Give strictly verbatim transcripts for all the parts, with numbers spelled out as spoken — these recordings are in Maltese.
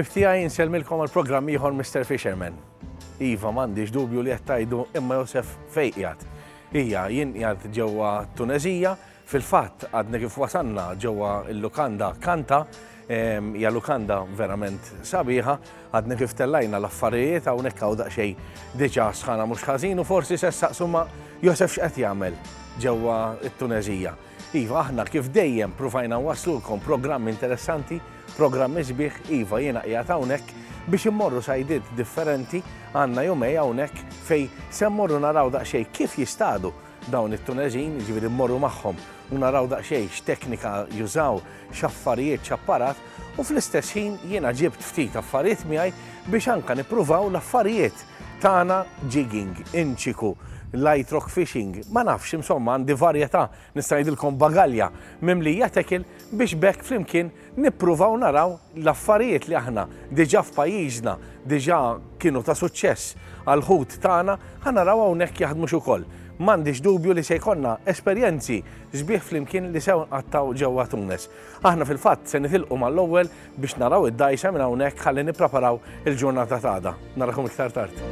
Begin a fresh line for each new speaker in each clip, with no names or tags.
Ħbieb tiegħi, insellmilkom għal programm ieħor Mister Fisherman. Iva, m'għandix dubju li qed tgħidu, imma Josef, fejn qiegħed? Ija, jien qiegħed ġewwa Tuneżija, fil-fatt għadna kif wasanna ġewwa l-lukanda Kanta, hija lukanda verament sabiħa, għadna kif tellajna l-affarijiet hawnhekk, hawn daqsxejn diġà sħana mhux ħażin u forsi se ssaqsu, ma Josef x'qed jagħmel ġewwa t-Tuneżija? Iva, aħna kif dejjem pruvajna nwaslulkom programmi interessanti, programmi sbieħ, iva, jiena qiegħed hawnhekk biex immorru sajdiet differenti. Għandna jumejn hawnhekk fejn se mmorru naraw daqsxejn kif jistadu dawn it-Tuneżin, jiġifieri mmorru magħhom u naraw daqsxejn x'teknika jużaw, x'affarijiet, x'apparat, u fl-istess ħin jiena ġibt ftit affarijiet miegħi biex anka nippruvaw l-affarijiet tagħna: jigging, inchiku, light rock fishing, ma nafx, insomma, għandi varjetà, nista' ngħidilkom bagalja mimlija tackle biex bekk flimkien nippruvaw naraw l-affarijiet li aħna diġà f'pajjiżna diġà kienu ta' suċċess għal-ħut tagħna, ħa naraw hawnhekk jaħdmux ukoll. M'għandix dubju li se jkollna esperjenzi sbieħ flimkien li se nqattaw ġewwa Tunes. Aħna fil-fatt se nitilqu mal-ewwel biex naraw id-dgħajsa minn hawnhekk ħalli nippreparaw il-ġurnata t'għada. Narakom iktar tard.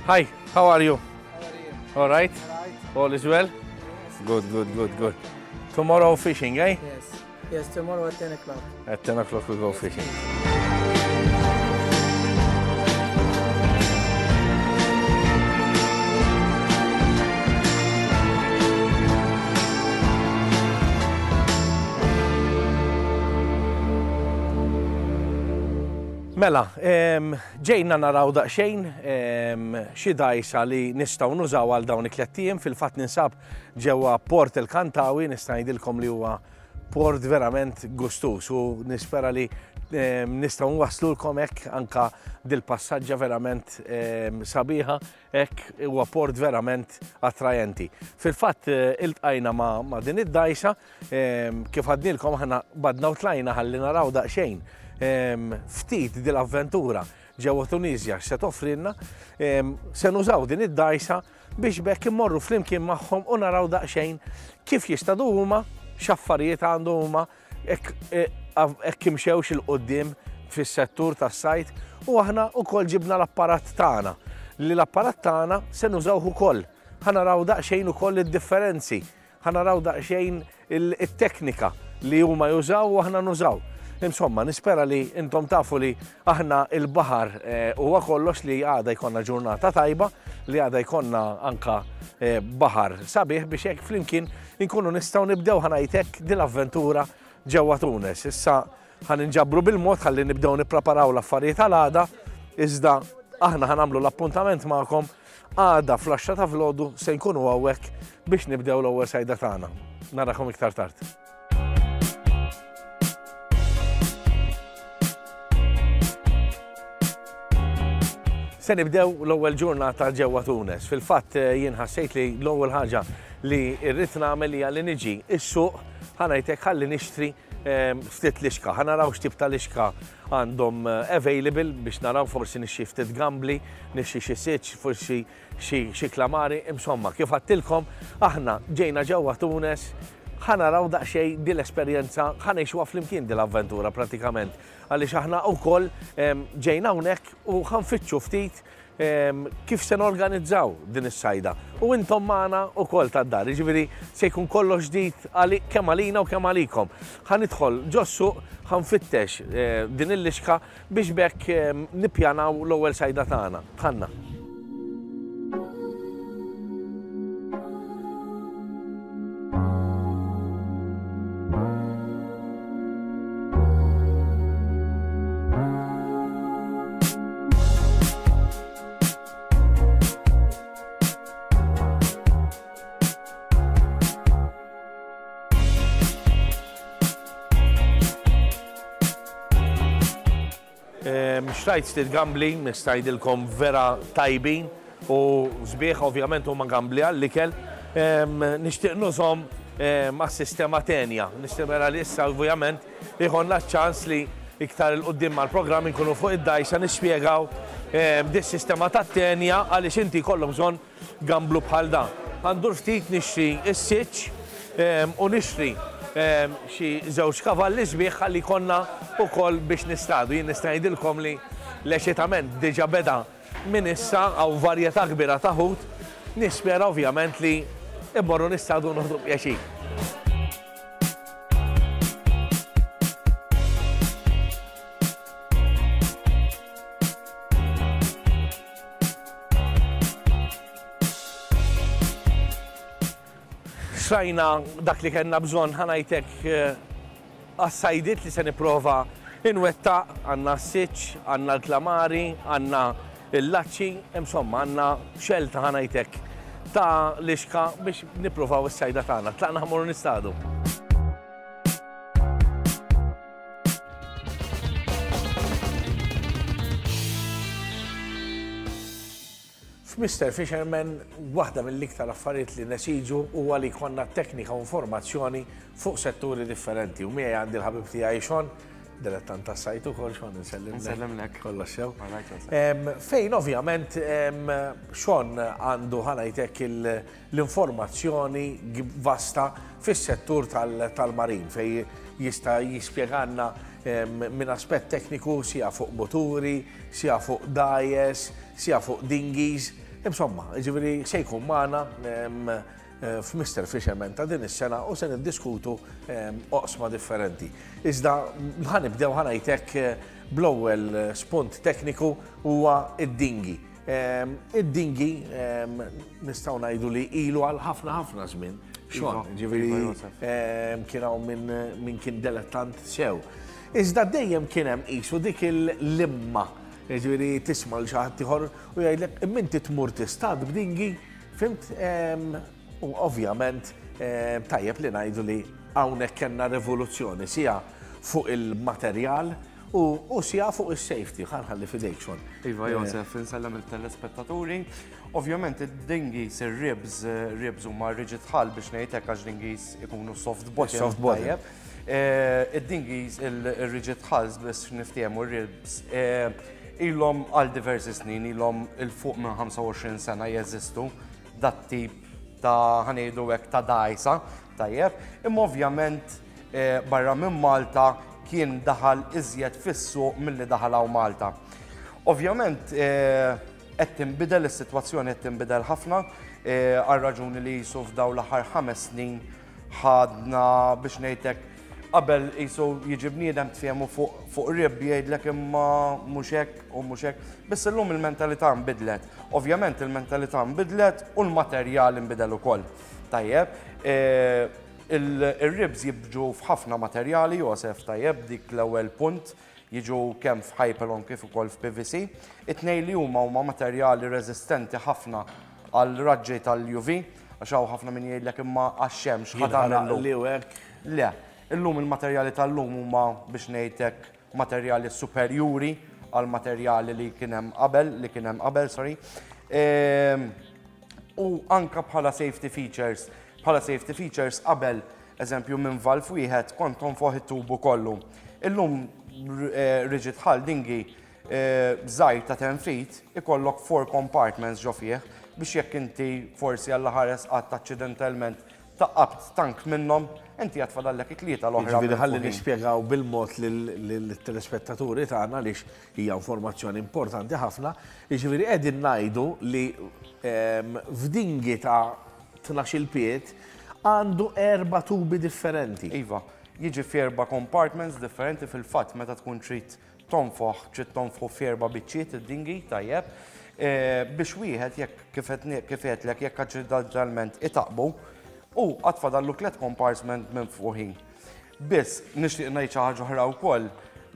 Hi, how are you?
How are you?
All right?
All right.
All is well?
Yes.
Good, good, good, good. Tomorrow fishing, eh?
Yes. Yes, tomorrow at ten o'clock.
At ten o'clock we go fishing. Mela, em, ġejna naraw daqsxejn em, xi dgħajsa li nistgħu nużaw għal dawn it-tlett ijiem. Fil-fatt ninsab ġewwa Port El Kantawi, nista' ngħidilkom li huwa port verament gustus u nispera li em, nistgħu nwaslulkom hekk anka dil-passaġġa verament em, sabiħa, hekk huwa port verament attrajenti. Fil-fatt eh, iltqajna ma', ma' din id-dgħajsa, em, kif għednilkom aħna badna u tlajna ħalli naraw daqsxejn em, ftit dil-avventura ġewwa Tunizja x'se toffrilna, em, se nużaw din id-dgħajsa biex bekk immorru flimkien magħhom u naraw daqsxejn kif jistadu huma, x'affarijiet għandu huma, hekk eh, hekk imxewx 'il quddiem fis-settur tas-sajd, u aħna wkoll ġibna l-apparat tagħna, li l-apparat tagħna se nużawh ukoll. Ħa naraw daqsxejn ukoll id-differenzi, ħa naraw daqsxejn il-teknika li huma jużaw u aħna nużaw. Insomma, nispera li intom tafu li aħna il-baħar eh, huwa kollox, li għada jkollna ġurnata tajba, li għada jkollna anka eh, baħar sabiħ biex hekk flimkien inkunu nistgħu nibdew, ħa ngħidlek, dil-avventura ġewwa Tunes. Issa ħa ninġabru bil-mod ħalli nibdew nippreparaw l-affarijiet għal għada, iżda aħna ħa nagħmlu l-appuntament magħkom għada fl-għaxra ta' filgħodu, se nkunu hawnhekk biex nibdew l-ewwel sajda tagħna. Narakom iktar tard. Se nibdew l-ewwel ġurnata ġewwa Tunes. Fil-fatt eh, jien ħassejt li l-ewwel ħaġa li rrid nagħmel hija li niġi is-suq, ħa ngħidlek, ħalli nixtri ehm, ftit lixka. Ħa naraw x'tip ta' lixka għandhom eh, available biex naraw forsi nixtri ftit gambli, nixtri xi siċ, forsi xi klamari, insomma, kif għedtilkom, aħna ġejna ġewwa Tunes, ħa naraw daqsxejn din l-esperjenza, ħa ngħixuha flimkien din l-avventura pratikament. Għaliex aħna wkoll ġejna hawnhekk u ħa nfittxu ftit kif se norganizzaw din is-sajda. U intom magħna wkoll tad-dar, jiġifieri se jkun kollox ġdid kemm għalina u kemm għalikom. Ħa nidħol ġos-suq, ħa nfittex eh, din il-lixka biex bekk nippjanaw l-ewwel sajda tagħna. Tħanna. Xtrajt ftit gambli, nista' ngħidilkom vera tajbin u sbieħ, ovvjament huma gambli għall-ikel. Nixtieq nużahom. għas-sistema tenja. Nispera li issa ovvjament ikollna ċans li iktar 'il quddiem mal-programm inkunu fuq id-dgħajsa nispjegaw dis-sistema ta' tenja għaliex inti jkollok bżonn gamblu bħal dan. Ħa ndur ftit nixtri s-siċċ u nixtri xi żewġ kavalli sbieħ ħalli jkollna wkoll biex nistadu. Jien nista' ngħidilkom li l-eċitament diġà beda minn issa hawn varjetà kbira ta' ħut. Nispera ovvjament li immorru nistadu noħdu pjaċir. Xtrajna dak li kellna bżonn, ħa ngħidlek għas-sajdiet li se nipprova inwettaq, għandna s-siċċ, għandna l-klamari, għandna l-laċċi, insomma għandna xelta ħa ngħidlek ta' lixka biex nippruvaw is-sajda tagħna. Tlaqna ħa mmorru nistadu. F'Mister Fisherman, waħda mill-iktar affarijiet li nesiġu huwa li jkollna teknika u informazzjoni fuq setturi differenti. U miegħi għandi l-ħabib tiegħi Sean, dilettant tas-sajt ukoll, Sean, insellimlek.
Insellimlek.
Kollox sew.
All right, Joseph.
Em, fejn ovvjament em, Sean għandu ħa ngħidlek l-informazzjoni vasta fis-settur tal-marin, fej jista' jispjegalna minn aspett tekniku sija fuq moturi, sija fuq dgħajjes, sija fuq dinghies. Insomma, ġifieri se jkun magħna f'Mister Fisherman ta' din is-sena u se niddiskutu oqsma differenti. Iżda ħa nibdew ħa ngħidlek bl-ewwel spunt tekniku huwa id-dinghy. Id-dinghy nistgħu ngħidu li ilu għal ħafna ħafna żmien. Sean,
Iva,
ġifieri,
Iva, Josef.
kien hawn min, min kien dilettant sew. Iżda dejjem kien hemm qisu dik il-limma. Ġifieri tisma' l xi ħadd ieħor u jgħidlek imma inti tmur tistad b'dinghy, fimt? U ovvjament tajjeb li ngħidu li hawnhekk kellna rivoluzzjoni sija fuq il-materjal u, u sija fuq is-safety. Ħa nħalli f'idejk, Sean.
Iva, Josef, insellem il-telespettaturi. Ovvjament id-dinghies, ir-ribs, ribs huma rigid hull biex ngħid hekk għax dinghies ikunu soft bottom.
Soft bottom.
Tajjeb. Eh, id-dinghies, il-rigid hulls biex niftehmu ir-ribs, eh, ilhom għal diversi snin, ilhom 'il fuq minn ħamsa u għoxrin sena jeżistu dat tip ta' ħa ngħidu hekk ta' dgħajsa, tajjeb. Imma ovvjament, eh, barra minn Malta kien daħal iżjed fis-suq milli daħal hawn Malta. Ovvjament, eh, qed tinbidel is-sitwazzjoni, qed tinbidel ħafna, eh, għal raġuni li jisu f'daw l-aħħar ħames snin ħadna biex ngħidlek qabel jisu jiġi bniedem tfiehmu fuq, fuq rib jgħidlek imma mhux hekk u mhux hekk. Biss illum il-mentalità nbidlet. Ovvjament il-mentalità nbidlet u l-materjal nbidel ukoll. Tajjeb, eh, il-, il-ribs jibġu f'ħafna materjali, Josef, tajjeb, dik l-ewwel punt, jiġu kemm f'Hypalon kif ukoll f'P V C. It-tnejn li huma huma materjali reżistenti ħafna għal raġġi tal-U V, għax hawn ħafna min jgħidlek imma għax-xemx ħa tagħmel
Li u hekk.
Le, illum il-materjali tal-lum huma biex ngħidlek materjali superjuri għal materjali li kien hemm qabel, li kien hemm qabel, sorry. Ehm, u anka bħala safety features, bħala safety features qabel, eżempju minn valve wieħed kont tonfoħ it-tubu kollu. Illum, eh, rigid hull dinghy, eh, żgħir ta' ten feet ikollok four compartments ġo fih biex jekk inti forsi għalla ħares qatt accidentalment taqqabt tank minnhom, inti għad fadallek it-tlieta l-oħra.
Ġifieri ħalli
minfuħin.
nispjegaw bil-mod lill-telespettaturi tagħna għaliex hija informazzjoni importanti ħafna. Ġifieri qegħdin ngħidu li, ehm, f'dinghy ta' tnax-il pied għandu erba' tubi differenti.
Iva, jiġi f'erba' compartments differenti fil-fatt meta tkun trid tonfoħ, trid tonfoħ f'erba' biċċiet id-dinghy, tajjeb. Eh, biex wieħed jekk kif qed ne-, kif qedlek jekk accidentalment itaqbu u għad fadallu tliet compartment minn fuqin. Biss nixtieq ngħid xi ħaġa oħra wkoll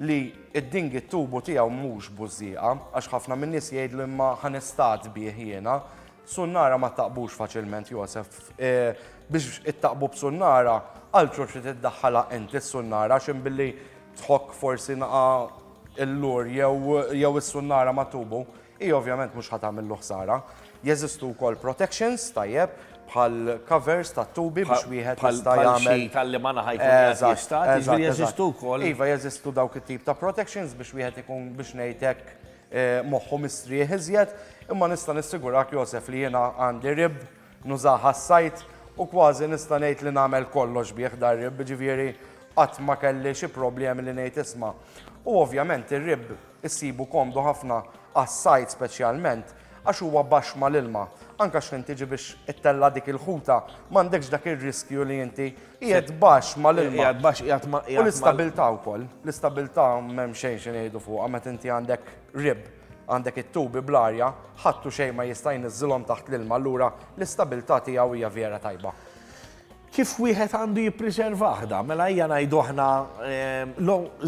li id-dinghy t-tubu tiegħu mhux bużżieqa, għax ħafna min-nies jgħidlu imma ħa nistad bih jiena. Sunnara ma taqbux faċilment, Josef. Eh, biex ittaqbu b'sunnara, altru trid iddaħħalha inti s-sunnara, għax imbilli tħokk forsi naqa' il-lur jew, jew is-sunnara ma tubu, hi ovvjament mhux ħa tagħmillu ħsara. Jeżistu wkoll protections, tajjeb, bħal covers ta' tubi biex wieħed jista' jagħmel.
Tal-li ma ħajkun jista', jiġifieri jeżistu wkoll.
Iva, jeżistu dawk it-tip ta' protections biex wieħed ikun biex ngħidlek moħħu mistrieħ iżjed, imma nista' nissigurak Josef li jiena għandi rib nużaha għas-sajt u kważi nista' ngħid li nagħmel kollox bih dar rib, ġifieri qatt ma kelli xi problemi li ngħid isma'. U ovvjament ir-rib issibu komdu ħafna għas-sajt speċjalment għax huwa baxx mal-ilma. Anke x'inti tiġi biex ittella dik il-ħuta, m'għandekx dak ir-riskju li inti qiegħed baxx mal-ilma.
Qiegħed baxx, qiegħed ma'
U l-istabilità wkoll. L-istabilità m'hemm xejn xi ngħidu fuqha meta inti għandek rib, għandek it-tubi bl-arja, ħadd u xejn ma jista' jniżżilhom taħt l-ilma, allura l-istabilità tiegħu hija vera tajba.
Kif wieħed għandu jippreservah da? Mela hija ngħidu aħna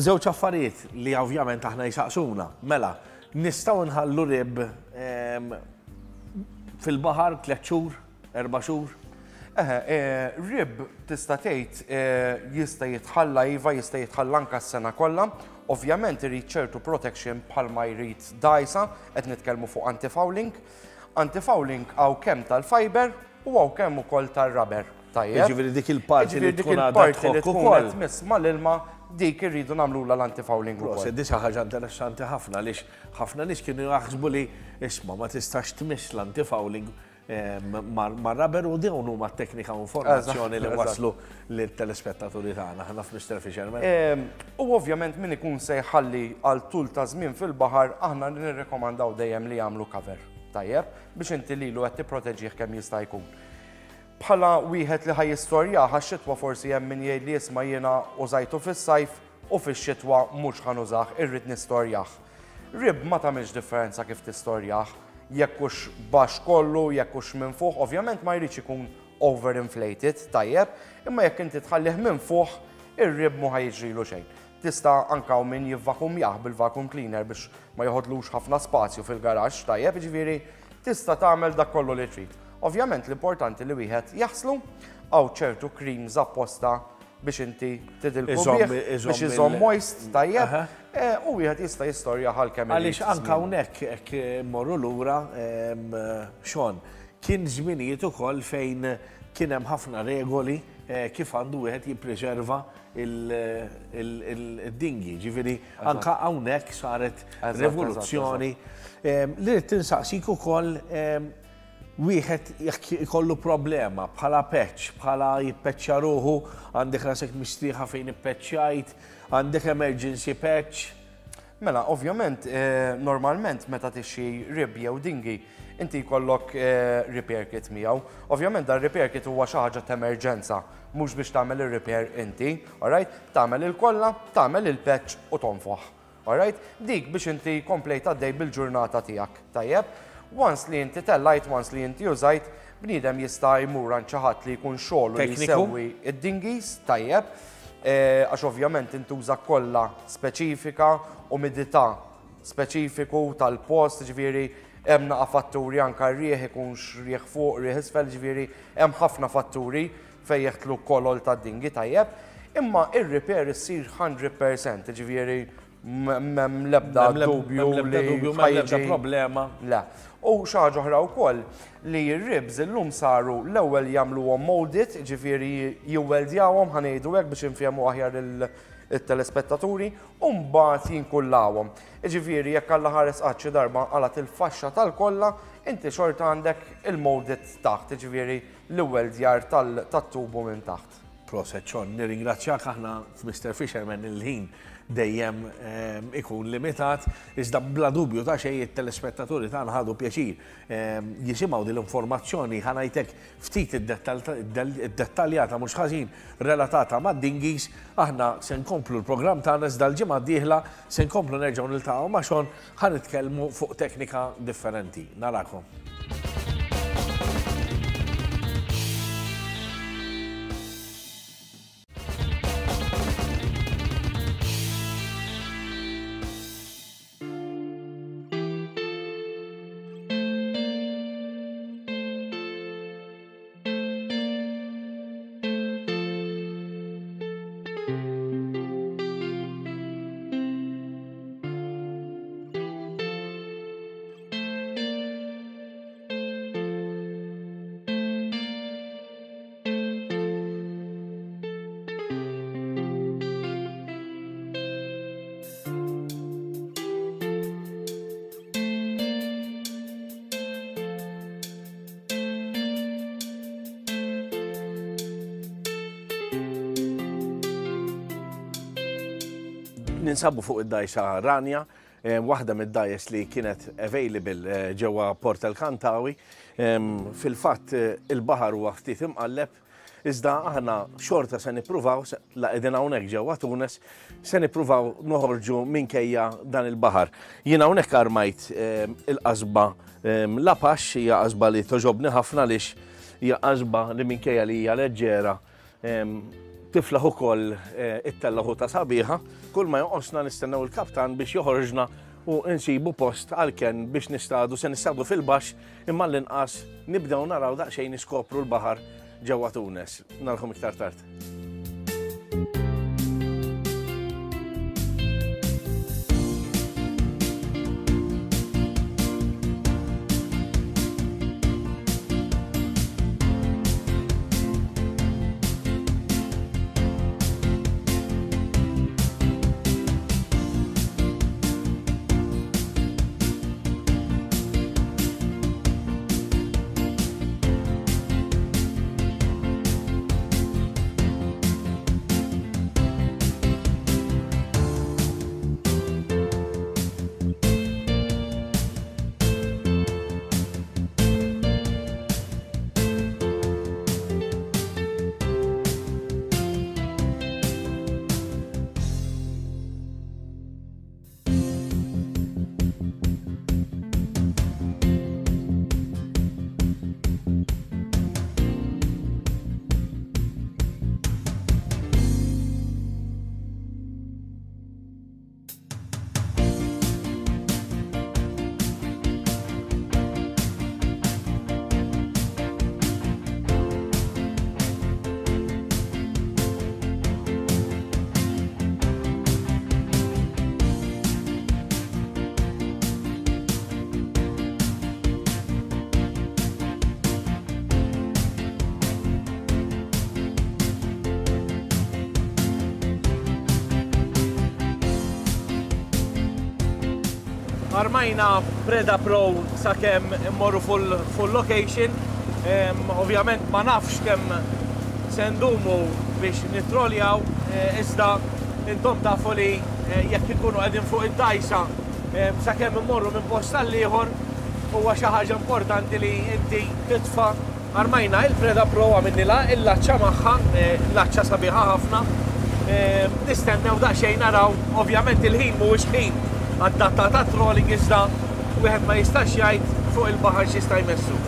żewġ affarijiet li ovvjament aħna jsaqsuna. Mela, nistgħu nħallu rib fil-baħar tliet xhur, erba' xhur?
Eħe, rib tista' tgħid jista' jitħalla iva, jista' jitħalla anke s-sena kollha. Ovvjament irid ċertu protection bħalma jrid dgħajsa, qed nitkellmu fuq anti-fouling. Anti-fouling hawn kemm tal-fiber u hawn kemm ukoll tar-rubber. Tajjeb.
Jiġifieri dik il-parti li
Jiġifieri dik
tkun għadha
il-parti li
tħokk
tkun
ukoll.
qed tmiss mal-ilma, dik irridu nagħmlulha l-anti-fouling ukoll.
Proset, di xi ħaġa interessanti ħafna għaliex ħafna nies kienu jaħsbu li isma' ma tistax tmiss l-anti-fouling mar-rubber u dawn huma t-teknika u informazzjoni li waslu lit-telespettaturi tagħna aħna f'Mister Fisherman.
U ovvjament min ikun se jħalli għal tul ta' żmien fil-baħar aħna nirrekomandaw dejjem li jagħmlu cover. Tajjeb, biex inti lilu qed tipproteġih kemm jista' jkun. Bħala wieħed li ħajjistorjah għax-xitwa forsi hemm min jgħid li isma' jiena użajtu fis-sajf u fix-xitwa mhux ħanużah, irrid nistorjah. Rib ma tagħmilx differenza kif tistorjah, jekk hux baxx kollu, jekk hux minn fuq, ovvjament ma jridx ikun overinflated, tajjeb, imma jekk inti tħallih minn fuq, ir-rib mhu ħajġrilu xejn. Tista' anke hawn min jivvakumjah bil-vacuum cleaner biex ma joħodlux ħafna spazju fil-garaxx, tajjeb, jiġifieri tista' tagħmel dak kollu li trid. Ovvjament l-importanti li wieħed jaħslu hawn ċertu creams apposta biex inti tidilku
Iżomm-
bih,
iżomm
biex iżomm
il-
moist, tajjeb,
Aha.
e, u wieħed jista' jistorja għal kemm irid
Għaliex anke
żmien.
hawnhekk hekk mmorru lura, em, Sean, kien żminijiet ukoll fejn kien hemm ħafna regoli, eh, kif għandu wieħed jippreserva il-dingi. Ġifieri anke hawnhekk saret
Eżatt,
rivoluzzjoni. Em, Li rrid tinsaqsik ukoll, em, wieħed jekk ikollu problema bħala patch, bħala jippeċċja ruħu, għandek rasek mistrieħa fejn ippeċċjajt, għandek emergency patch.
Mela, ovvjament, eh, normalment meta tixxi rib jew dingi, inti jkollok, eh, repair kit miegħu. Ovvjament dan repair kit huwa xi ħaġa ta' emerġenza, mhux biex tagħmel ir-repair inti, alright? Tagħmel il-kolla, tagħmel il-patch u tonfoħ. Alright? Dik biex inti komplejt għaddej bil-ġurnata tiegħek, tajjeb? Once li inti tellajt, once li inti użajt, bniedem jista' jmur għand xi ħadd li jkun xogħlu li
Tekniku.
jsewwi id-dingis, tajjeb, eh, għax ovvjament intuża kollha speċifika, umidità speċifiku tal-post, ġifieri hemm naqa' fatturi anke r-rieħ ikunx rieħ fuq, rieħ isfel, ġifieri hemm ħafna fatturi fejn jeħtlu kolol tad-dingi, tajjeb. Imma ir-repair issir hundred percent, ġifieri m'hemm l-ebda
M'hemm l-ebda
dubju
m'hemm l-ebda
li
dubju, m'hemm l-ebda
ħajġi
problema.
Le. U xi ħaġa oħra wkoll li r-ribs illum saru l-ewwel jagħmluhom molded, ġifieri jiweldjawhom, ħa ngħidu hekk biex infehmu aħjar il-, il-telespettaturi, u mbagħad jinkullawhom. Ġifieri jekk Alla ħares qatt xi darba qalat il-faxxa tal-kolla, inti xorta għandek il-molded taħt, ġifieri l-weldjar tal-, tat-tubu minn taħt.
Proset, Sean, nirringrazzjak aħna f'Mister Fisherman il-ħin dejjem, ehm, ikun limitat, iżda bla dubju ta' xejn it-telespettaturi tagħna ħadu pjaċir, ehm, jisimgħu din l-informazzjoni, ħa ngħidlek ftit id-dettaljata mhux ħażin relatata mad-dingis. Aħna se nkomplu l-programm tagħna iżda l-ġimgħa d-dieħla se nkomplu nerġgħu niltaqgħu ma' Sean, ħa nitkellmu fuq teknika differenti. Narakom. Ninsabu fuq id-dgħajsa Ranja, eh, waħda mid-dgħajjes li kienet available eh, ġewwa Port El Kantawi. Fil-fatt eh, il-baħar huwa ftit imqalleb, iżda aħna xorta se nippruvaw, la qegħdin hawnhekk ġewwa Tunes, se nippruvaw noħorġu minkejja dan il-baħar. Jien hawnhekk armajt il-qasba l-Apax, hija qasba li toġobni ħafna għaliex hija qasba li minkejja li hija leġġera tiflaħ ukoll it-tella ħuta sabiħa. Kull ma jonqosna nistennew il-kaptan biex joħorġna u nsibu post għal-kenn biex nistadu, se nistadu fil-baxx, imma l-inqas nibdew naraw daqsxejn niskopru l-baħar ġewwa Tunes. Narahom iktar tard. Armajna Preda Pro sakemm immorru full, full location. Um, ovvjament ma nafx kemm se ndumu biex nitroljaw, eh, iżda intom tafu li eh, jekk ikunu qegħdin fuq id-dgħajsa eh, sakemm immorru minn post għal ieħor huwa xi ħaġa importanti li inti titfa'. Armajna il-Preda Pro, għamilnilha il-laċċa magħha, laċċa sabiħa ħafna. Nistennew daqsxejn naraw, ovvjament il-ħin mhuwiex ħin għad-data ta' trolling, iżda wieħed ma jistax jgħid fuq il-baħar x'jista' jmessu.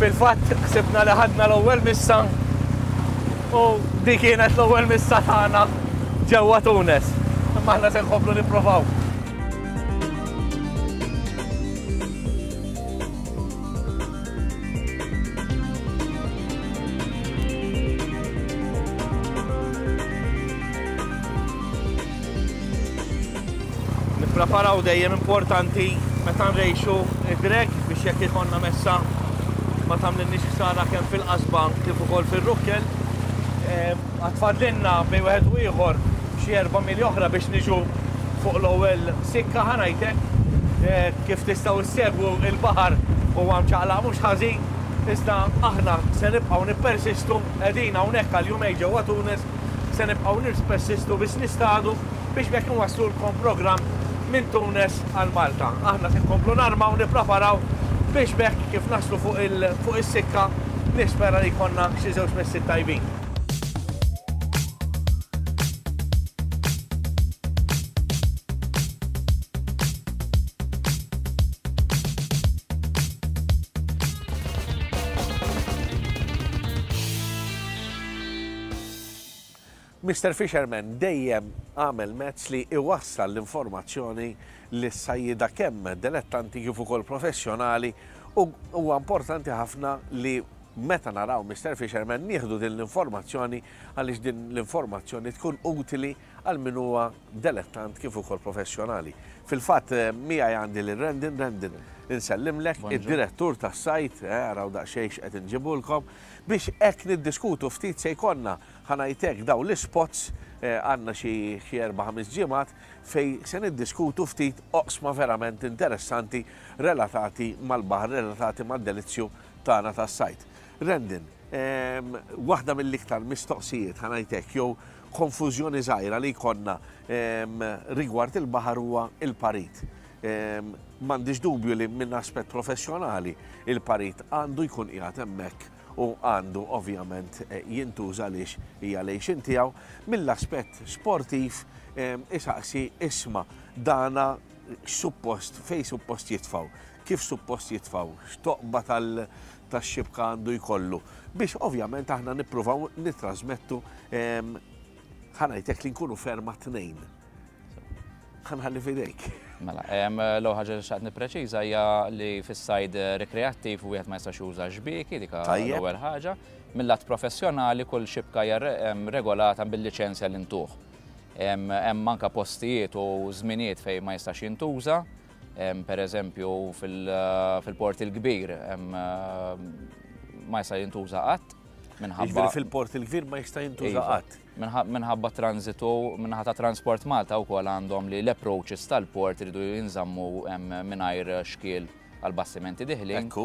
Fil-fatt ħsibna li ħadna l-ewwel missa u dik kienet l-ewwel missa tagħna ġewwa Tunes. Imma aħna se nkomplu nipprovaw. Nippreparaw dejjem importanti meta nrejxu id-drag biex jekk ikollna messa ma tagħmlilniex ħsara kemm fil-qasba kif ukoll fir-rukkel. Għatfadlilna bejn wieħed u ieħor xi erba' mili oħra biex niġu fuq l-ewwel sikka ħanajtek. Kif tistgħu ssegwu il-baħar huwa mċaqlaq mhux ħażin, iżda aħna se nibqgħu nippersistu, qegħdin hawnhekk għal jumejn ġewwa Tunes, se nibqgħu nippersistu biex nistadu biex bekk nwasslulkom programm minn Tunes għal Malta. Aħna se nkomplu narmaw nippreparaw biex bekk kif naslu fuq is-sikka nispera li jkollna xi żewġ messi tajbin. Mister Fisherman dejjem għamel mezz li iwassal l-informazzjoni li s-sajjida kemm dilettanti kif ukoll professjonali, u huwa importanti ħafna li meta naraw Mister Fisherman nieħdu din l-informazzjoni għaliex din l-informazzjoni tkun utili għal min huwa dilettant kif ukoll professjonali. Fil-fatt miegħi għandi lil Rendin. Rendin, insellimlek, id-direttur tas-sajt, araw daqsxejn x'qed inġibulkom, biex hekk niddiskutu ftit se jkollna ħa ngħidlek daw l-ispots, għandna xi erba' ħames ġimgħat fejn se niddiskutu ftit oqsma verament interessanti relatati mal-baħar, relatati mad-delizzju tagħna tas-sajt. Rendin, waħda mill-iktar mistoqsijiet ħa ngħidlek jew konfużjoni żgħira li jkollna rigward il-baħar huwa il-parit. M'għandix dubju li minn aspett professjonali il-parit għandu jkun qiegħed hemmhekk u għandu ovvjament jintuża għaliex hija lejxin tiegħu. Mill-aspett sportiv isaqsi isma' dana x'suppost, fejn suppost jitfgħu, kif suppost jitfgħu, x'toqba tax-xibka għandu jkollu, biex ovvjament aħna nippruvaw nittrasmettu ħa ngħidlek li nkunu ferma tnejn. Ħa nħalli f'idejk.
Mela, l-ewwel ħaġa li xtaqt nippreċiża hija li fis-sajd rekreattiv wieħed ma jistax juża xbieki, dik l-ewwel ħaġa. Mill-lat professjonali kull xibka hija regolata bil-liċenzja li ntuh. Hemm anke postijiet u żminijiet fejn ma jistax jintuża, pereżempju fil-Port il-Kbir ma jista' jintuża qatt.
Minħabba fil-Port il-Kbir ma jista' jintuża qatt.
Minħabba transitu, minħabba ta' Transport Malta wkoll għandhom li l-approaches tal-port iridu jinżammu mingħajr xkiel għal bastimenti diħlin. U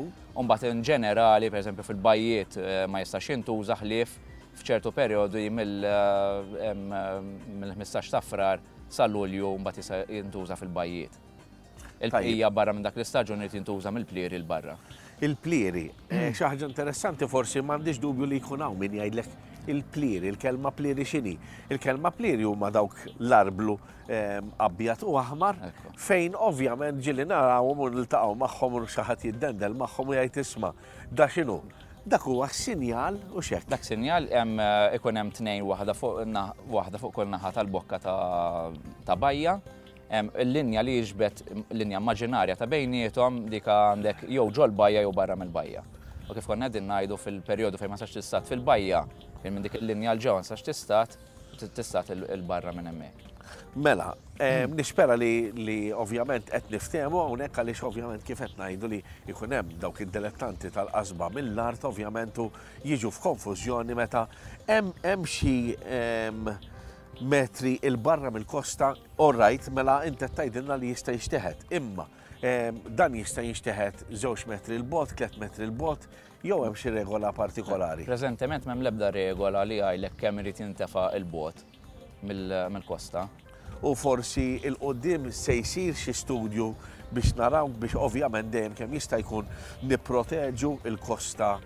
mbagħad in ġenerali, pereżempju fil-bajjiet ma jistax jintuża ħlief f'ċertu perjodi mill-ħmistax ta' Frar sa Lulju mbagħad jista' jintuża fil-bajjiet. Il-bqija barra minn dak l-istaġun irid jintuża mill-plieri l barra.
Il-plieri, xi ħaġa interessanti forsi m'għandix dubju li jkun hawn min jgħidlek il-plieri, il-kelma plieri x'inhi? Il-kelma plieri huma dawk l-arblu abjad u aħmar fejn ovvjament ġieli narawhom u niltaqgħu magħhom u xi ħadd jiddendel magħhom u jgħid isma' da x'inhu? Dak huwa sinjal u x'hekk.
Dak sinjal hemm ikun hemm tnejn waħda fuq waħda fuq kull naħa tal-bokka ta' bajja. Il-linja li jiġbed linja immaġinarja ta' bejniethom dik għandek jew ġol bajja jew barra mill-bajja. U kif konna qegħdin ngħidu fil-perjodu fejn ma sax tistat fil-bajja, fejn minn dik il-linja l ġewwa ma sax tistat, tistat il-barra minn hemmhekk.
Mela, nispera li ovvjament qed niftehmu hawnhekk għaliex ovvjament kif qed ngħidu li jkun hemm dawk id-dilettanti tal-qasba mill-art ovvjament u jiġu f'konfużjoni meta hemm xi metri il-barra mill-kosta, all right, mela inti tgħidilna li jista' jinxteħet. Imma dan jista' jinxteħet żewġ metri l-bot, tliet metri l-bot, jew hemm xi regola partikolari?
Preżentement m'hemm l-ebda regola li jgħidlek kemm irid jintefa' il-bot mill-kosta.
U forsi il-qudiem se jsir xi studju biex naraw biex ovvjament dejjem kemm jista' jkun nipproteġu il-kosta,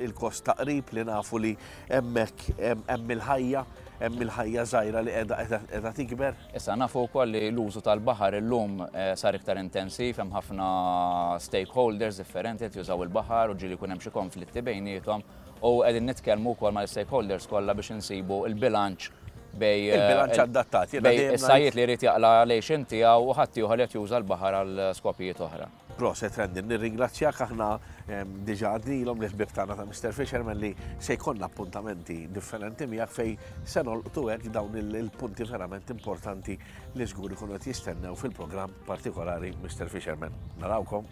il-kosta qrib li nafu li hemmhekk hemm il-ħajja, hemm il-ħajja żgħira li qiegħda qiegħda tikber.
Issa nafu wkoll li l-użu tal-baħar illum sar iktar intensiv, hemm ħafna stakeholders differenti qed jużaw il-baħar u ġieli jkun hemm xi konflitti bejniethom u qegħdin nitkellmu wkoll mal-stakeholders kollha biex insibu l-bilanċ bej
il-bilanċ adattat,
bej is-sajjied li jrid jaqla' lejxin tiegħu u ħadd ieħor li qed juża l-baħar għal skopijiet oħra.
Proset Rendin, nirringrazzjak aħna diġà għadnilhom li ħbieb tagħna ta' Mister Fisherman li se jkollna appuntamenti differenti miegħek fejn se nolqtu hekk dawn il-punti verament importanti li żgur ikunu qed jistennew fil-programm partikolari Mister Fisherman. Narawkom.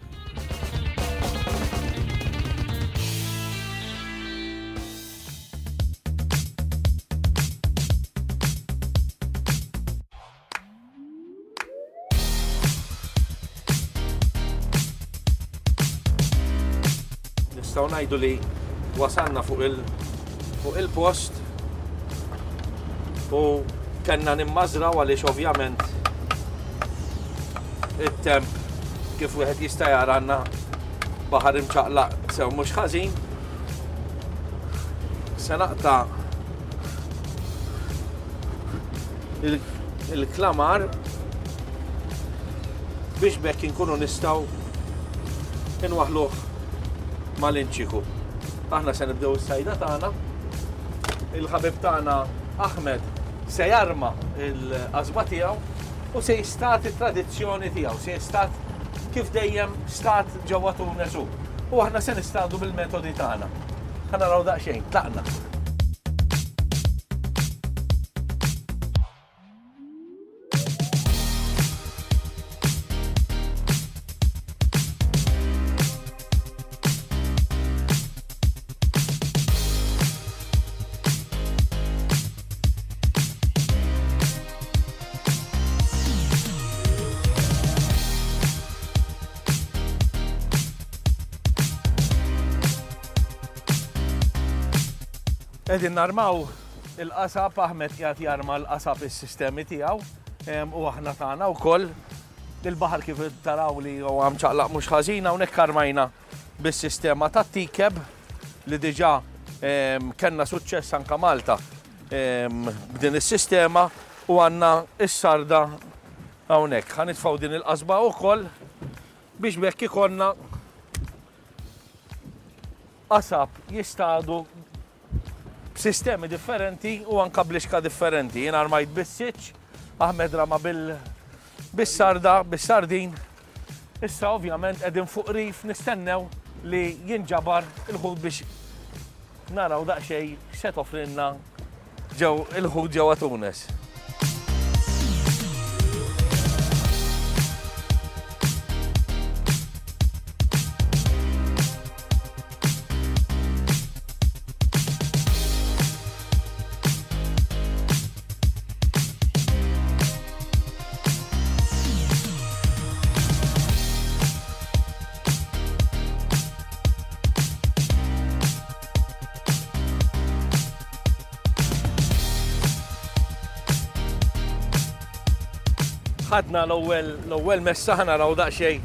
Nistgħu ngħidu li wasalna fuq il fuq il-post u kellna nimmażraw għaliex ovvjament It-temp kif wieħed jista' jara għandna baħar imċaqlaq sew mhux ħażin. Se naqta' il-klamar biex bekk inkunu nistgħu inwaħluh mal-inċiku. Aħna se nibdew is-sajda tagħna. Il-ħabib tagħna Ahmed se jarma l-qasba tiegħu u se jistat it-tradizzjoni tiegħu, se jistat kif dejjem stat ġewwa Tunes hu. U aħna se nistadu bil-metodi tagħna. Ħa naraw daqsxejn, tlaqna. Qegħdin narmaw il-qasab, Ahmed qiegħed jarma l-qasab is-sistemi tiegħu u aħna tagħna wkoll. Il-baħar kif taraw li huwa mċaqlaq mhux ħażin, hawnhekk armajna bis-sistema tat-tikeb li diġà kellna suċċess anke Malta b'din is-sistema u għandna s-sarda hawnhekk. Ħa nitfgħu din il-qasba wkoll biex bekk ikollna qasab jistadu b'sistemi differenti u anka blixka differenti. Jien armajt bis-siċ, Ahmed rama bis-sarda, bis-sardin. Issa ovvjament qegħdin fuq rif nistennew li jinġabar il-ħut biex naraw daqsxejn x'se toffrilna ġew il-ħut ġewwa Tunes. Ħadna l-ewwel messa, ħa naraw daqsxejn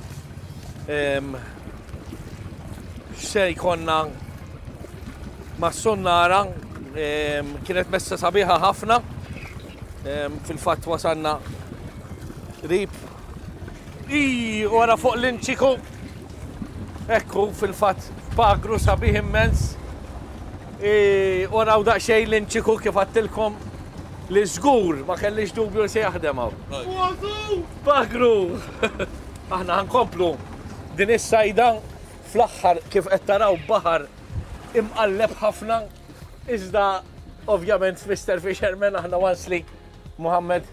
x'se jkollna mas-sunnara. Kienet messa sabiħa ħafna. Fil-fatt wasalna qrib. Ii, wara fuq l-inċiku. Ekku, fil-fatt pagru sabiħ immens. Waraw daqsxejn l-inċiku kif għattilkom li żgur ma kellix dubju li se jaħdem hawn. Pagru! Aħna ħankomplu din is-sajda fl-aħħar kif qed taraw baħar imqalleb ħafna, iżda ovvjament Mister Fisherman aħna once li Muhammad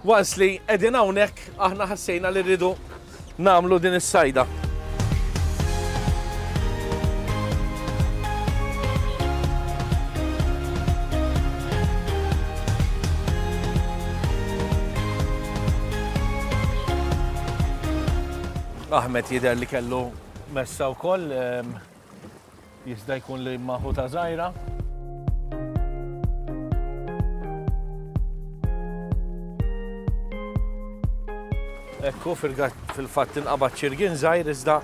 once li qegħdin hawnhekk aħna ħassejna li rridu nagħmlu din is-sajda. Ahmed jidher li kellu messa wkoll, jista' jkun li maħuta żgħira. Ekku fil-fatt inqabad ċirgin żgħir iżda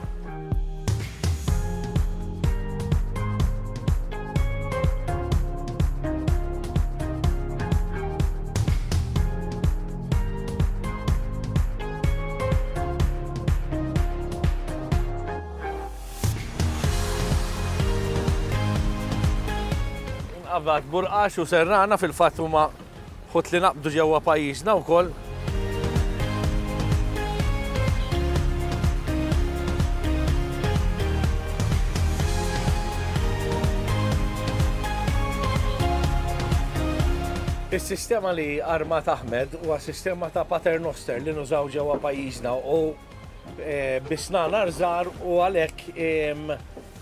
inqabad burqax u serrana fil-fatt huma ħut li naqbdu ġewwa pajjiżna wkoll. Is-sistema li armat Ahmed huwa sistema ta' paternoster li nużaw ġewwa pajjiżna u bisnanar żgħar u għalhekk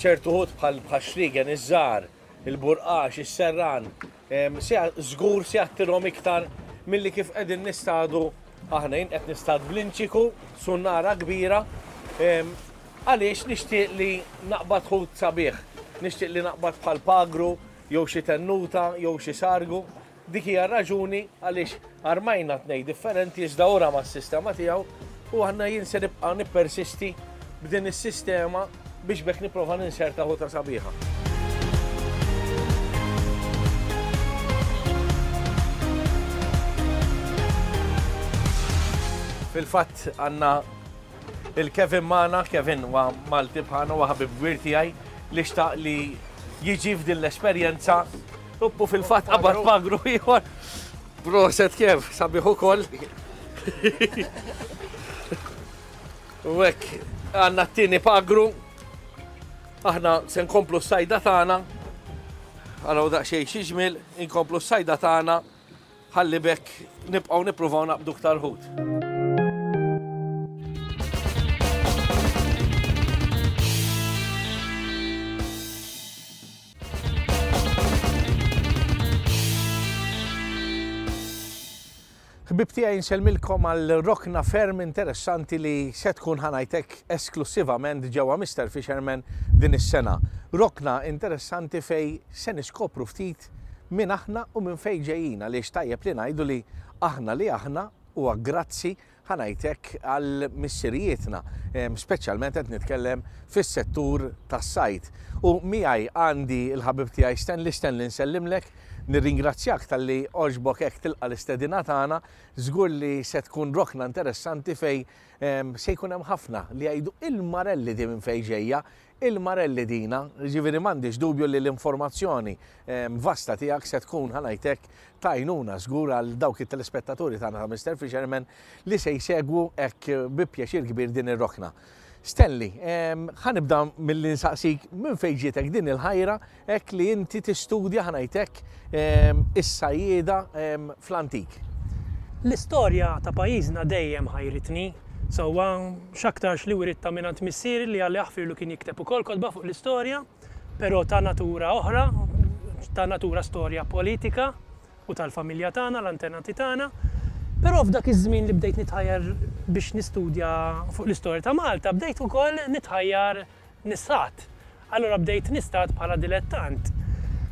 ċertu ħut bħal xrigen iż-żgħar, il-burqax, is-serran, żgur se jattirhom iktar milli kif qegħdin nistadu aħna. Jien qed nistad bl-inċiku, sunnara kbira, għaliex nixtieq li naqbad ħut sabiħ, nixtieq li naqbad bħal pagru, jew xi tennuta, jew xi sargu. Dik hija raġuni għaliex armajna tnejn differenti iżda ora mas-sistema tiegħu U aħna jien se nibqa' nippersisti b'din is-sistema biex bekk nipprova ninserta ħuta sabiħa. Fil-fatt għandna il-Kevin magħna, Kevin huwa Malti bħalna, huwa ħabib kbir tiegħi li xtaq li jiġi f'din l-esperjenza. U fil-fatt qabad pagru ieħor. Proset Kev, sabiħ ukoll. U hekk għandna t-tieni pagru. Aħna se nkomplu s-sajda tagħna. Għaraw daqsxejn xi ġmiel, inkomplu s-sajda tagħna ħalli bekk nibqgħu nippruvaw naqbdu iktar ħut. Ħbib tiegħi nsellmilkom għal rokna ferm interessanti li se tkun ħanajtek esklusivament ġewwa Mister Fisherman din is-sena. Rokna interessanti fej se niskopru ftit minn aħna u minn fej ġejjin, għaliex tajjeb li ngħidu li aħna li aħna huwa grazzi ħanajtek għal missirijietna, speċjalment qed nitkellem fis-settur tas-sajd. U miegħi għandi l-ħabib tiegħi Stanley. Stanley, nsellimlek, nirringrazzjak talli għoġbok hekk tilqa' l-istedina tagħna. Żgur li se tkun rokna interessanti fej se jkun hemm ħafna li jgħidu il-marelli di minn fejn ġejja, il-marelli dina, ġifieri m'għandix dubju li l-informazzjoni vasta tiegħek se tkun ħanajtek tajnuna żgur għal dawk it-telespettaturi tagħna ta' Mister Fisherman li se jsegwu hekk bi pjaċir kbir din ir-rokna. Stanley, ħanibda mill-li nsaqsik minn fejn ġietek din il-ħajra hekk li inti tistudja ħanajtek is-sajjieda fl-antik.
L-istorja ta' pajjiżna dejjem ħajritni. Sewwa x'aktarx li wiritta mingħand missieri li għalli aħfirlu kien jikteb ukoll kotba fuq l-istorja, però ta' natura oħra, ta' natura storja politika u tal-familja tagħna, l-antenati tagħna. Però f'dak iż-żmien li bdejt nitħajjar biex nistudja fuq l-istorja ta' Malta, bdejt ukoll nitħajjar nistat. Allura bdejt nistat bħala dilettant.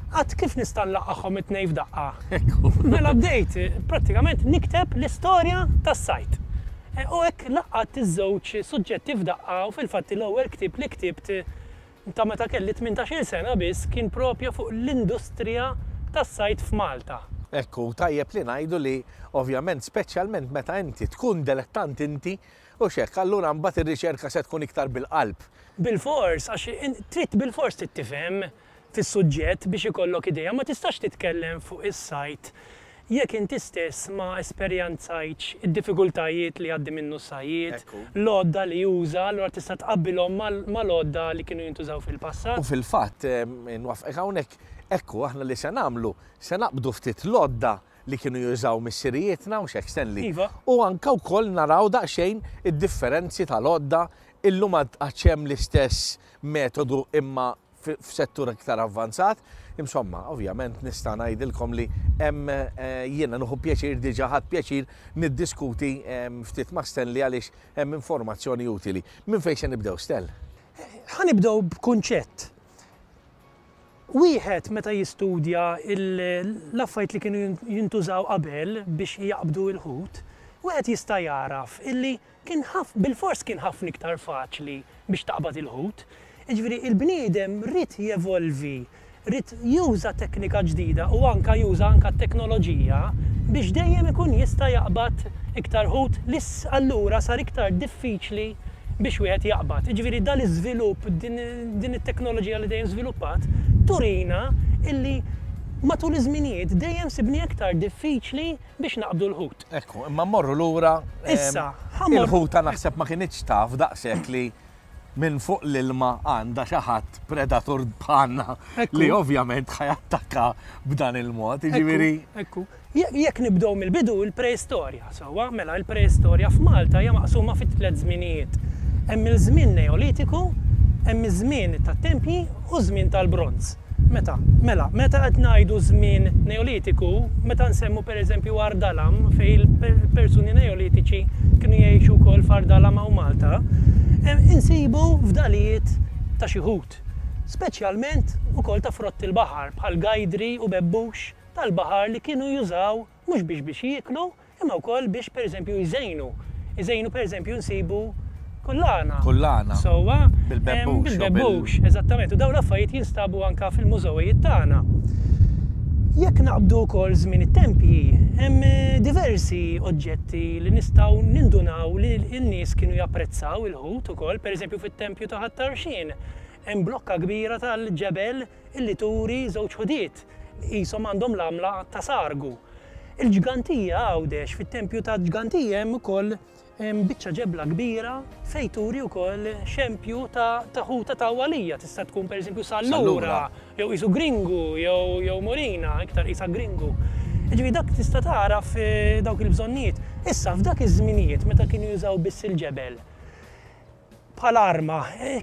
Għad kif nista' nlaqqagħhom it-tnejn f'daqqa? Mela bdejt prattikament nikteb l-istorja tas-sajd. U hekk laqqat iż-żewġ suġġetti f'daqqa u fil-fatt l-ewwel ktieb li ktibt ta' meta kelli tmintax-il sena biss kien propju fuq l-industrija tas-sajd f'Malta.
Ekku, tajjeb li ngħidu li ovvjament speċjalment meta inti tkun dilettant inti u xek, allura mbagħad ir-riċerka se tkun iktar bil-qalb.
Bil-fors, għax trid bil-fors tittifhem fis-suġġett biex ikollok idea, ma tistax titkellem fuq is-sajd jekk inti stess ma esperjenzajtx id-diffikultajiet li għaddi minnu s-sajjied, l-għodda li juża, allura tista' tqabbilhom mal-għodda li kienu jintużaw fil-passat.
U fil-fatt, nwaffqek hawnhekk, ekku aħna li se nagħmlu, se naqbdu ftit l-għodda li kienu jużaw missirijietna u xek Stanley.
Iva.
U anke wkoll naraw daqsxejn id-differenzi tal-għodda, illum għad hemm l-istess metodu imma f'settur iktar avvanzat. Insomma, ovvjament nista' ngħidilkom li hemm jiena nieħu pjaċir diġà ħadd pjaċir niddiskuti ftit ma' Stanley għaliex hemm informazzjoni utili. Minn fejn se nibdew, Stel?
Ħa nibdew b'kunċett. Wieħed meta jistudja l-affarijiet li kienu jintużaw qabel biex jaqbdu l-ħut, wieħed jista' jaraf illi kien bil-fors kien ħafna iktar faċli biex taqbad il-ħut. Jiġifieri il-bniedem rid jevolvi, rid juża teknika ġdida u anka juża anka teknoloġija biex dejjem ikun jista' jaqbad iktar ħut li allura sar iktar diffiċli biex wieħed jaqbad. Jiġifieri dan l-iżvilupp, din it-teknoloġija li dejjem żviluppat, turina illi matul iż-żminijiet dejjem sibni iktar diffiċli biex naqbdu l-ħut.
Ekku, imma mmorru lura.
Issa,
il-ħuta naħseb ma kinitx taf daqshekk li minn fuq l-ilma għandha xi ħadd predatur bħalna li ovvjament ħajattakka b'dan il-mod, jiġifieri.
Ekku, jekk nibdew mill-bidu il-preistorja, sewwa, mela il-preistorja f'Malta hija maqsuma fi tliet żminijiet. Hemm il-żmien Neolitiku, hemm iż-żmien tat-tempji u żmien tal-bronz. Meta, mela, meta qed ngħidu żmien Neolitiku, meta nsemmu pereżempju Għar Dalam fejn il-persuni Neolitiċi kienu jgħixu wkoll f'Għar Dalam hawn Malta, insibu fdalijiet ta' xi ħut, speċjalment ukoll ta' frott il-baħar bħal gajdri u bebbux tal-baħar li kienu jużaw mhux biex biex jieklu imma wkoll biex pereżempju jżejnu Iżejnu pereżempju nsibu kullana.
Kullana.
Sewwa.
Bil-bebbux.
Bil-bebbux, eżattament. U dawn l-affarijiet jinstabu anka fil-mużewijiet tagħna. Jekk naqbdu wkoll żmien it-tempji, hemm diversi oġġetti li nistgħu nindunaw li n-nies kienu japprezzaw il-ħut ukoll, pereżempju fit-tempju ta' Ħal Tarxien, hemm blokka kbira tal-ġebel illi turi żewġ ħudiet qishom għandhom l-għamla ta' sargu. Il-Ġgantija Għawdex, fit-tempju ta' Ġgantija hemm ukoll biċċa ġebla kbira fejn turi wkoll xempju ta' ta' ħuta ta' għalija, tista' tkun pereżempju sallura, jew qisu gringu, jew jew morina, iktar qisha gringu. Jiġifieri dak tista' tagħraf dawk il-bżonnijiet. Issa f'dak iż-żminijiet meta kienu jużaw biss il-ġebel bħala arma,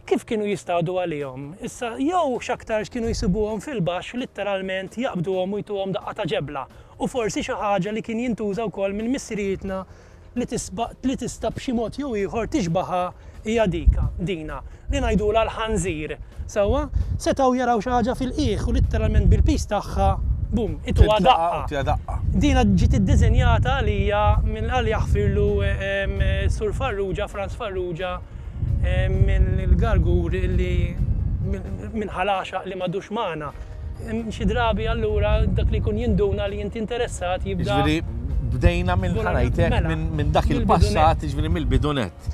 kif kienu jistadu għalihom? Issa jew x'aktarx kienu jsibuhom fil-baxx litteralment jaqbduhom u jtuhom daqqa ta' ġebla. U forsi xi ħaġa li kien jintuża wkoll minn missirietna li tisba' li tista' b'xi mod jew ieħor tixbaha hija dika, dina, li ngħidulha l-ħanżir. Sewwa, setgħu jaraw xi ħaġa fil-qiegħ u litteralment bil-piż tagħha, bum, ituha daqqa. Dina ġiet iddiżinjata għalija minn għal jaħfirlu Sur Farrugia, Franz Farrugia, minn il-Gargur li minn Ħal Għaxaq li m'għadux magħna. Xi drabi allura dak li jkun jinduna li inti interessat jibda.
Jiġifieri bdejna minn ħa ngħidlek minn dak il-passat, jiġifieri mill-bidunet.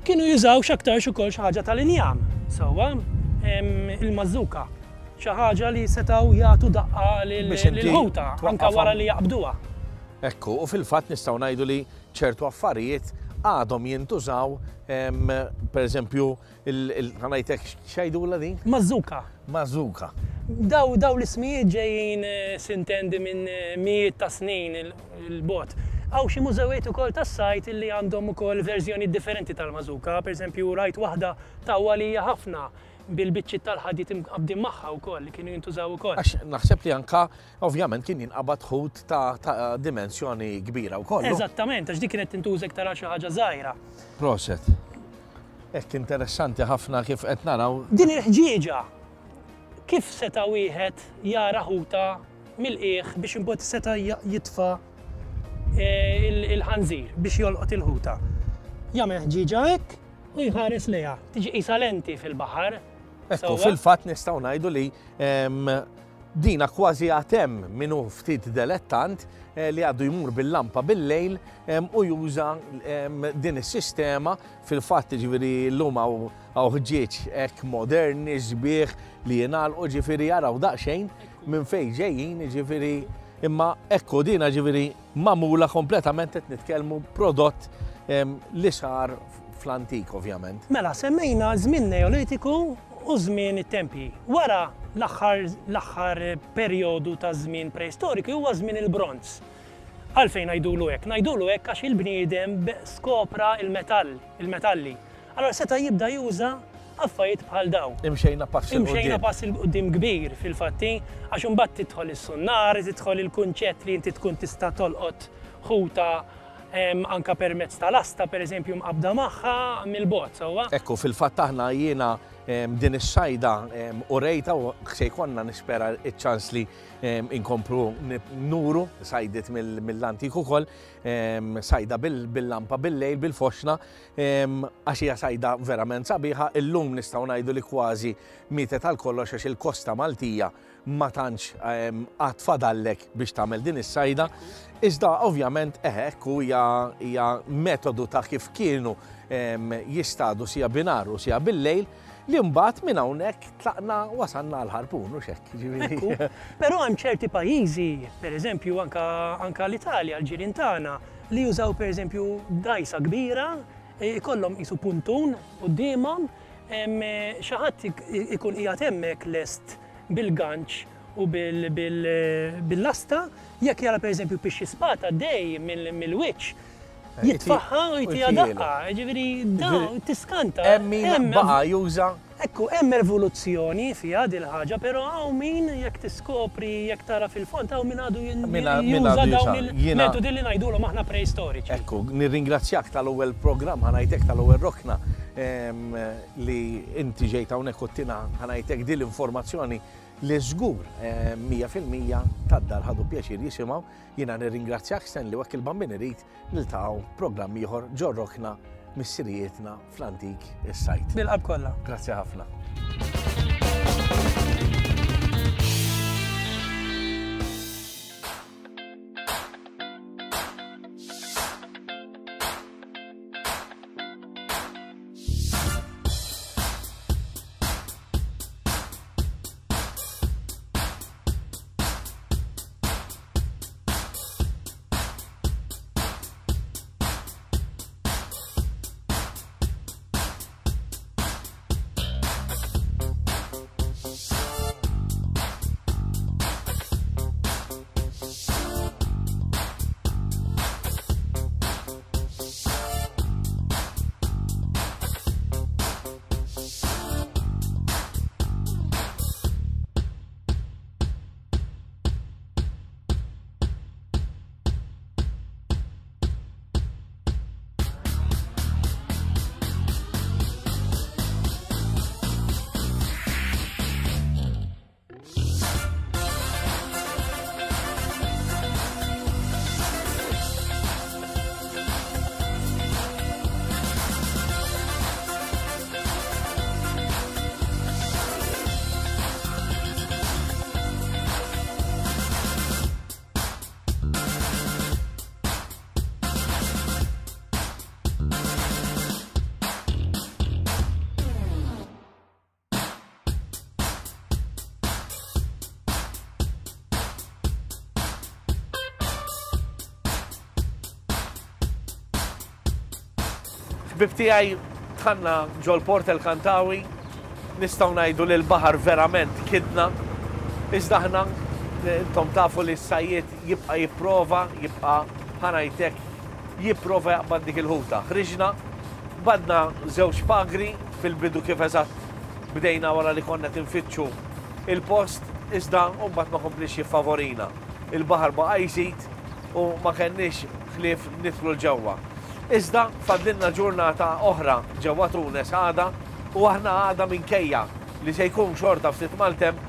Kienu jużaw x'aktarx ukoll xi ħaġa tal-injam, sewwa, il-mażuka. Xi ħaġa li setgħu jagħtu daqqa lil-ħuta anke wara li jaqbduha.
Ekku, u fil-fatt nistgħu ngħidu li ċertu affarijiet għadhom jintużaw, per eżempju, ħa ngħidlek x'jgħidulha din?
Mażuka.
Mażuka.
Daw daw l-ismijiet ġejjin sintendi minn mijiet ta' snin il-bot. Hawn xi mużewijiet ukoll tas-sajt illi għandhom ukoll verżjoni differenti tal-mażuka, per eżempju rajt waħda ta' għalija ħafna bil-biċċiet tal-ħadid imqabbdin magħha wkoll li kienu jintużaw ukoll.
Għax naħseb li anka ovvjament kien jinqabad ħut ta' ta' dimensjoni kbira wkoll.
Eżattament, għax dik kienet tintuża iktar għal xi ħaġa żgħira.
Proset. Hekk interessanti ħafna kif qed naraw.
Din il-ħġieġa kif seta' wieħed jara ħuta mill-qiegħ biex imbagħad seta' jitfa' il-ħanżir biex jolqot il-ħuta. Jagħmel ħġieġa hekk u jħares lejha. Tiġi qisha lenti fil-baħar.
Ekku, fil-fatt nistgħu ngħidu li dina kważi għatem minnu ftit delettant li għadu jmur bil-lampa bil-lejl u juża din is-sistema. Fil-fatt ġifieri llum hawn ħġieġ hekk moderni sbieħ li jingħalqu, ġifieri jaraw daqsxejn minn fejn ġejjin, ġifieri imma ekku dina ġifieri magħmula kompletament qed nitkellmu prodott li sar fl-antik ovvjament.
Mela semmejna żmien Neolitiku u żmien it-tempji. Wara l-aħħar l-aħħar perjodu ta' żmien preistoriku huwa żmien il-bronz. Għalfejn ngħidulu hekk? Ngħidulu hekk għax il-bniedem skopra il-metall, il-metalli. Allora seta' jibda juża affarijiet bħal daw.
Imxejna pass 'il
Imxejna pass 'il quddiem kbir fil-fatti, għax imbagħad tidħol is-sunnar, tidħol il-kunċett li inti tkun tista' tolqot ħuta anka permezz tal-asta, per eżempju, mqabda magħha mill-bot, sewwa?
Ekku, fil-fatt aħna jiena din is-sajda urejta u se jkollna nispera iċ-ċans li inkomplu nuru sajdiet mill-antik ukoll, sajda bil-lampa bil-lejl, bil-foxna, għax hija sajda verament sabiħa. Illum nistgħu ngħidu li kważi mietet għal kollox għax il-kosta Maltija ma tantx għad fadallek biex tagħmel din is-sajda. Iżda ovvjament eħe, ekku hija metodu ta' kif kienu jistadu sija binar u sija bil-lejl, li mbagħad minn hawnhekk tlaqna wasalna għal ħarpun u xekk.
Ekku, però hemm ċerti pajjiżi, pereżempju anka anka l-Italja, l-ġirien tagħna, li jużaw pereżempju dgħajsa kbira, ikollhom qisu puntun quddiemhom, xi ħadd ikun qiegħed hemmhekk lest bil-ganċ u bil-lasta, jekk jara pereżempju pixxi spata dej mill-wiċċ, jitfaħħa u jtiha daqqa, ġifieri daw tiskanta.
Hemm min baqa' juża.
Ekku, hemm evoluzzjoni fiha dil ħaġa, però hawn min jekk tiskopri, jekk tara fil-fond, hawn min għadu juża dawn il-metodi li ngħidulhom aħna preistoriċi.
Ekku, nirringrazzjak tal-ewwel programm, ħa ngħidlek tal-ewwel rokna li inti ġejt hawnhekk u tina ħa ngħidlek din l-informazzjoni li żgur mija fil-mija tad-dar ħadu pjaċir jisimgħu. Jiena nirringrazzjak Stanley u hekk il-Bambin irid niltaqgħu programm ieħor ġorrokna missirijietna fl-antik is-sajt.
Bil-qalb kollha.
Grazzi ħafna. Ħbib tiegħi dħalna ġol-Port El Kantawi, nistgħu ngħidu li l-baħar verament kidna, iżda aħna intom tafu li s-sajjied jibqa' jipprova, jibqa' ħanajtek, jipprova jaqbad dik il-ħuta. Ħriġna, badna żewġ pagri fil-bidu kif eżatt bdejna wara li konna tinfittxu il-post, iżda mbagħad ma komplix jiffavorina. Il-baħar baqa' jżid u ma kenniex ħlief nidħlu l-ġewwa. Iżda fadlilna ġurnata oħra ġewwa Tunes għada u aħna għada minkejja li se jkun xorta ftit maltemp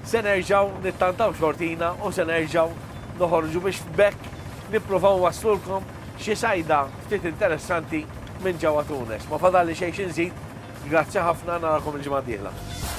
se nerġgħu nittantaw xortina u se nerġgħu noħorġu biex b'hekk nippruvaw waslulkom xi sajda ftit interessanti minn ġewwa Tunes. Ma fadalli xejn xi nżid, grazzi ħafna, narakom il-ġimgħa d-dieħla.